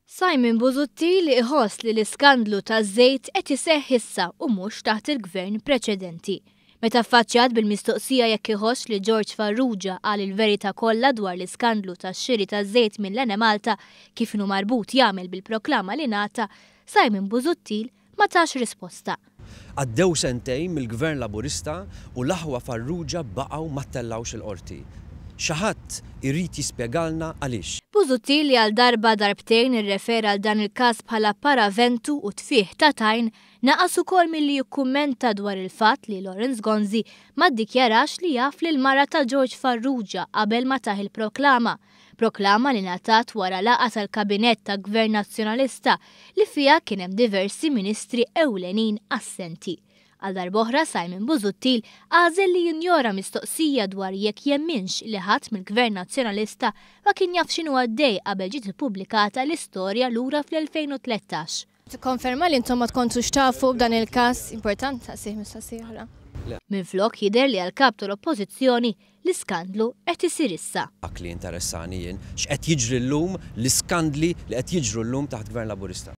Simon Busuttil iħoss li l-iskandlu taż-żejt qed iseħħ issa u mhux taħt il-Gvern preċedenti. Meta affaċċjat bil-mistoqsija jekk iħossx li George Farrugia qal il-verità kollha dwar l-iskandlu tax-xiri taż-żejt mill-Enemalta kif inhu marbut jagħmel bil-proklama li ngħata, Simon Busuttil ma tax risposta. Għaddew sentejn mill-Gvern Laburista u l-aħwa Farrugia baqgħu ma ttellgħux il-Qorti. Xi ħadd irid jispjegalna għaliex. Busuttil li għal darba darbtejn irrefera għal dan il-każ bħala paraventu u tfigħ ta' tajn, naqas ukoll milli jikkummenta dwar il-fatt li Lawrence Gonzi ma ddikjarax li jaf lill-mara ta' George Farrugia qabel ma tah il-proklama. Proklama li ngħatat wara laqgħa tal-Kabinett ta' Gvern Nazzjonalista li fiha kien hemm diversi ministri ewlenin assenti. Għal darb'oħra Simon Busuttil għażel li jinjora mistoqsija dwar jekk jemminx li ħadd mill-Gvern Nazzjonalista ma kien jaf x'inhu għaddej qabel ġiet ippubblikata l-istorja lura fl-2013. Tikkonferma li intom ma tkontux tafu b'dan il-każ? Important saqsih mistoqsija oħra. Minflok jidher li għall-Kap tal-Oppożizzjoni l-iskandlu qed isir issa. Dak li jinteressani jien, x'qed jiġri llum, l-iskandli li qed jiġru llum taħt Gvern Laburista.